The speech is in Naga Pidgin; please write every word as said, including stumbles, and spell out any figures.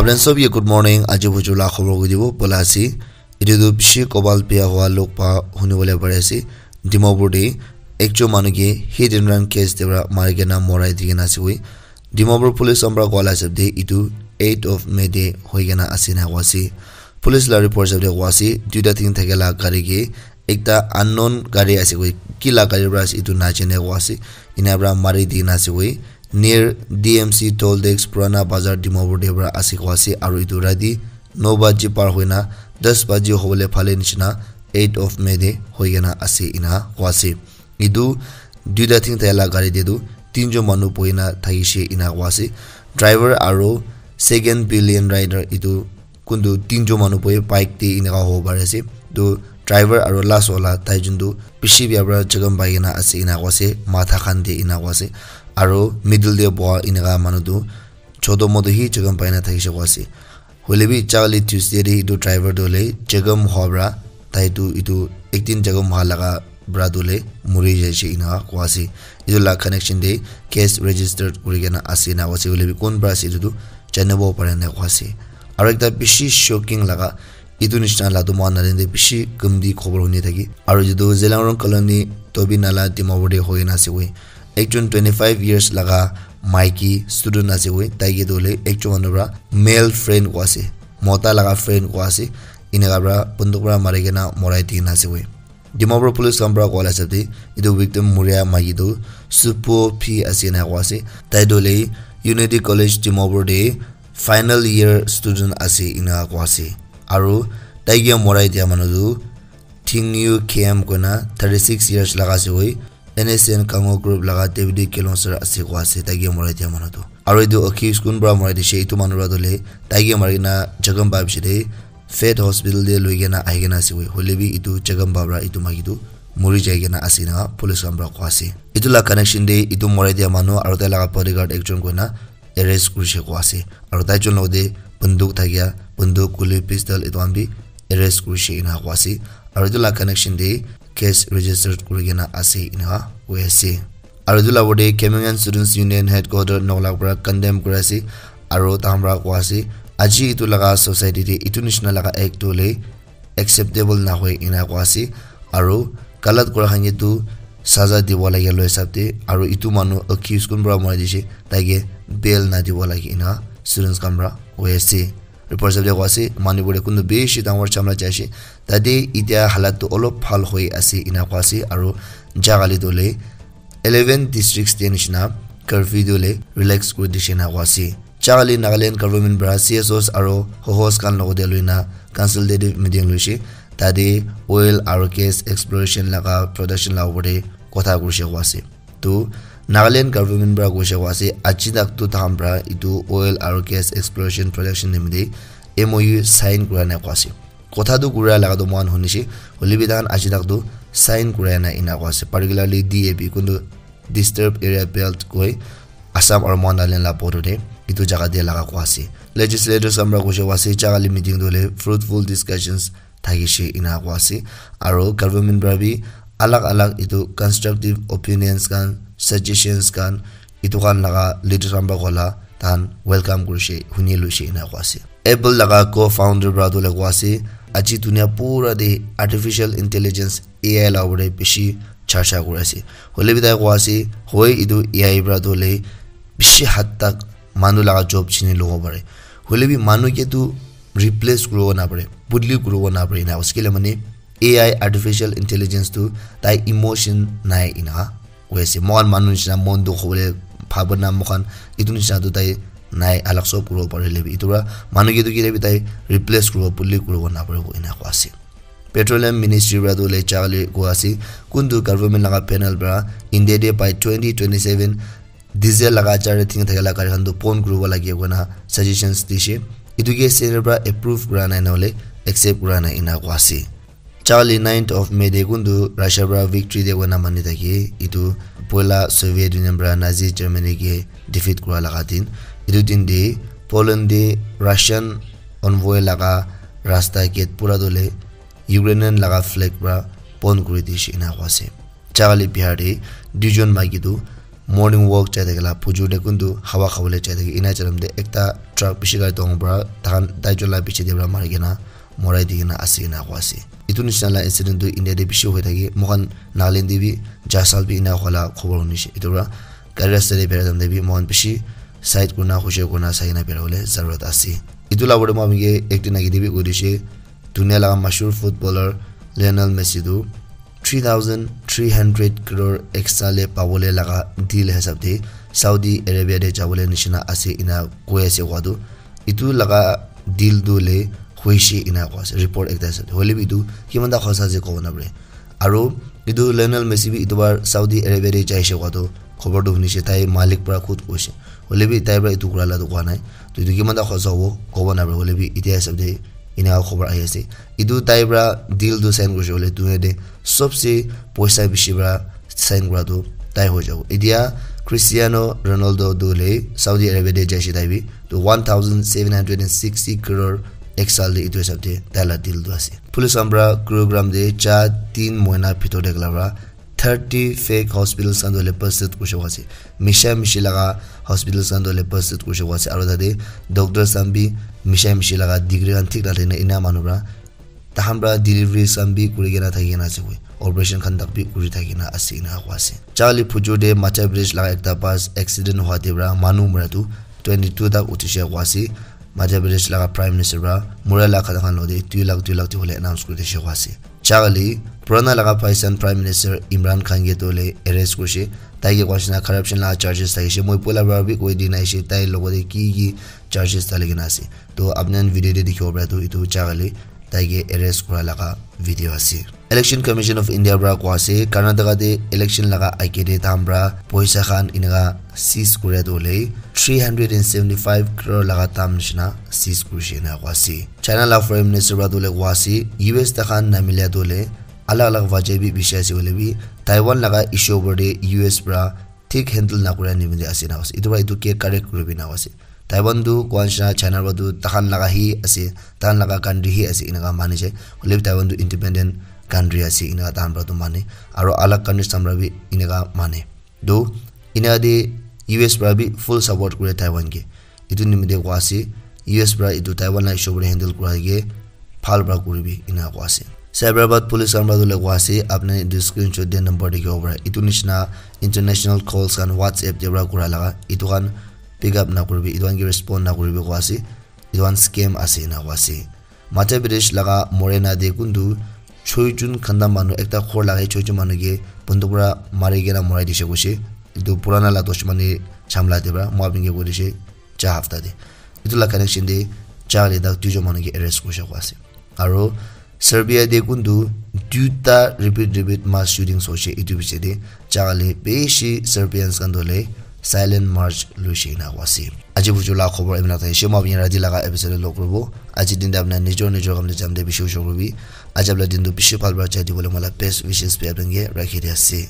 Friends of you, good morning. Aji bujur la khobor koi dibo bola ase. Etu tu bishi kobal bia hua log pa huni bole pare ase. Dimapur te ekjon manu ke hit and run case te para mari kena morai di kena ase koi. Dimapur police khan para koa la hisab te etu eight of May te hoi kena ase na koa ase. Police la report hisab te koa ase duita tin thake la gari ke ekta unknown gari ase koi, ki la gari para ase etu na jane koa ase. Ena para mari di kena ase koi. Near D M C toll tax Purana Bazar Dimapur te para ase koa ase aru etu rati no baji par hoina das baji hobole phale nishina eight of May te hoi kena ase ena koa ase. Etu duita tin thake la gari te tu tinjon manu bohi na thakishe ena koa ase. Driver aru second pillion rider etu kuntu tinjon manu bohi bike te eneka hobo pari ase. Tu driver aru last wala tai jun tu bishi bia para jakham pai kena ase ena koa ase. Matha khan te ena koa ase. Aru middle te boha eneka manu tu choto moto hi jakham pai na thakishe koa ase. Hoile bi chakali Tuesday te etu driver tu hoile jakham hoa para tai tu etu ekdin jakham hoa laga para tu hoile muri jaishe ena koa ase. Etu la connection te case registered kuri kena ase ena koa ase. Hoile bi kon para ase etu tu janibo pare na koa ase. Aru ekta bishi shocking laga etu nishina la tu moikhan Nagaland te bishi kamti khobor huni thaki. Aru etu tu Zeliangrong Colony Tobi Nala Dimapur te hoi kena ase koi. Ekjon twenty five years laga maiki student ase koi. Tai ke tu hoile ekjon manu para male friend koa ase. Mota laga friend koa ase. Eneka para bunduk para mari kena morai di kena ase koi. Dimapur police khan para koa la hisab te etu victim muria maiki tu Supo P ase ena koa ase. Tai tu hoile Unity College Dimapur te final year student ase ena koa ase. Aru tai ke morai dia manu tu Thingyu K M koina thirty six years laga ase koi. N S N Kango group laga deputy councillor ase koa ase tai ke morai dia manu tu. Aru etu accused kun para morai dishe etu manu para tu hoile tai ke mari kena jakham pa bishi te Faith Hospital te loi kena ahi kena ase koi. Hoile bi etu jakham pa para etu maiki tu muri jai kena ase ena police khan para koa ase. Etu la connection te etu morai dia manu aru tai laga bodyguard ekjon koina arrest kurishe koa ase. Aru tai jun logote bunduk thakia, bunduk, kuli, pistol etu khan bi arrest kurishe ena koa ase. Aru etu la connection te case registered kuri kena ase ena koi ase. Aru etu la opor te Kemengan Students Union Headquarter Noklak para condemn kuri ase. Aru tahan para koa ase, aji etu laga society te etu nishina laga act tu hoile acceptable nahoi ena koa ase. Aru galat kura khan ke tu saza dibo lage loi hisab te. Aru etu manu accused kun para morai dishe tai ke bail na dibo lage ena students khan para hoi ase. Report hisab te koa ase Manipur te kuntu bishi dangor jhamla jai ase. Tate etia halat tu olop bhal hoi ase ena koa ase. Aru jagali tu hoile eleven districts te nishina curfew tu hoile relax kuri dishe ena koa ase. Jagali Nagaland government para C S Os aru hohos khan logote loina consultative meeting loishe. Tate oil aru gas exploration laga production la opor te kotha kurishe koa ase. Tu Nagaland government para koishe koa ase aji tak tu tahan para etu oil aru gas exploration production nimite M O U sign kura nai koa ase. Kotha tu kura laga tu moikhan hunishe, hoile bi tahan aji tak tu sign kura nai ena koa ase. Particularly D A B kuntu Disturbed Area Belt koi Assam aru Nagaland la border te etu jaga te laga koa ase. Legislators khan para koishe koa ase jaga le meeting tu hoile fruitful discussions thakishe ena koa ase. Aru government para bi alag alag etu constructive opinions khan, suggestions khan etu khan laga leaders khan para koa la tahan welcome kurishe, huni loishe ena koa ase. Apple laga co-founder para tu hoile koa ase aji dunia pura te artificial intelligence A I la opor te bishi charcha kuri ase. Hoile bi tai koa ase hoi etu A I para tu hoile bishi had tak manu laga job chini lobo pare. Hoile bi manu ke tu replace kuribo na pare, bodli kuribo na pare ena koa ase. Kile mane A I artificial intelligence tu tai emotion nai ena koi ase. Moikhan manu nishina mon dukh hobole bhabona moikhan etu nishina tu tai nai, alag sob kuribo pare hoile bi etu para manu ke tu kile bi tai replace kuribo, bodli kuribo na paribo ena koa ase. Petroleum Ministry para tu hoile jagali koa ase kuntu government laga panel para India te by twenty twenty seven diesel laga jar te thing thakila gari khan tu bon kuribo lage koina suggestions dishe. Etu ke center para approve kura nai na hoile accept kura nai ena koa ase. Jagali ninth of May te kuntu Russia para victory day koina mani thake. Etu poila Soviet Union para Nazi Germany ke defeat kura laga din. Etu din te Poland te Russian envoy laga rasta gate pura tu hoile Ukrainian laga flag para bon kuri dishe ena koa ase. Jagali Bihar te duijon maiki tu morning walk jai thakila phujur te kuntu hawa khabole jai thaki ena jalam te ekta truck bishi gari dangor para tahan tai jun la piche te para mari kena morai di kena ase ena koa ase. Etu nishina la incident tu India te bishi hoi thaki moikhan Nagaland te bi jasal bi ena hola khobor hunishe. Etu para gari rasta te bera time te bi moikhan bishi side kurna hushiar kurna sai kena bera bole zarurat ase. Etu la opor te moikhan ke ekta naki te bi koi dishe dunia laga mashhur footballer Lionel Messi tu three thousand three hundred crore extra le pabole laga deal hisab te Saudi Arabia te jabole nishina ase ena koi ase koa tu etu laga deal tu le hoishe ena koa ase report ekta ase hoile bi etu kiman ta hosa ase kobo na pare. Aro etu Lionel Messi bi etu bar Saudi Arabia te jaishe koa tu khobor tu hunishe tai malik para khud koishe hoile bi tai para etu kura la tu koa nai. To etu kiman ta hosa hobo kobo na pare hoile bi etia hisab te ena khobor ahi ase. Etu tai para deal tu sign kurishe hoile dunia te sobse poisa bishi para sign kura tu tai hoi jabo. Etia Cristiano Ronaldo tu le Saudi Arabia te jaishe tai bi to one thousand seven hundred and sixty crore ek saal te etu hisab te tai la deal tu ase. Police khan para Gurugram te cha tin mohina bhitor te gala para thirty fake hospitals khan tu le busted kurishe koa ase. Misha mishi laga hospitals khan tu le busted kurishe koa ase aro tate doctors khan bi misha mishi laga degree khan thik na thakina ena manu para tahan para deliveries khan bi kuri kena thaki kena ase koi operation khan tak bi kuri thaki kena ase ena koa ase. Charlie phujur te Madhya Pradesh laga ekta bus accident hua te para manu mura tu twenty two tak uthi she koa ase. Madhya Pradesh laga Prime Minister para mura la khata khan lo te two lakh two lakh te hole announce kuri dishe koa ase. Charlie purana laga Pakistan Prime Minister Imran Khan ke tu le arrest kurishe. Tai ke koa nishina corruption laga charges thakishe. Moi poila para bi koi dina ase tai logot te ki ki charges thali kena ase. To apni khan video te dikhibo para tu etu Charlie tai ke arrest kura laga video ase. Election Commission of India para koa ase Karnataka te election laga age te tahan para poisa khan eneka seize kuria tu hoile three hundred and seventy five crore laga dam nishina seize kurishe ena koa ase. China la Foreign Minister para tu hoile koa ase U S tahan namila tu hoile alag alag wajah bi bishi ase hoile bi Taiwan laga issue opor te U S para thik handle na kuria nimite ase ena koa ase. Etu para etu ke correct kuribi ena koa ase. Taiwan tu koa nishina China para tu tahan laga hi ase, tahan laga country hi ase eneka mani jai. Hoile bi Taiwan tu independent country ase eneka tahan para tu mane. Aro alag countries khan para bi eneka mane. To eneka te U S para bi full support kure Taiwan ke. Etu nimite koa ase U S para etu Taiwan la issue para handle kura ke bhal para kuribi eneka koa ase. Cyberabad police khan para tu le koa ase apni etu screenshot te number dikhibo para etu nishina international calls khan WhatsApp te para kura laga etu khan pick up na kuribi etu khan ke respond na kuribi koa ase. Etu khan scam ase ena koa ase. Madhya Pradesh laga Morena te kuntu choi jun khanda manu ekta ghor laga choi jun manu ke bunduk para mari kena morai dishe koishe. Etu purana la dushmani jhamla te para moi apni ke koi dishe cha hafta te. Etu la connection te cha le tak duijon manu ke arrest kurishe koa ase. Aro Serbia te kuntu duita repeat repeat mass shootings hoishe etu piche te cha le bishi Serbians khan tu le silent march luishe ena koa ase. Aji bujur la khobor emna thai she moi apni rati laga episode log kuribo. Aji din te apni nijor nijor kam te jam te bishi ushor kuribi. Aji apni din tu bishi bhal para jai dibole moi la best wishes bi apni ke rakhi di ase.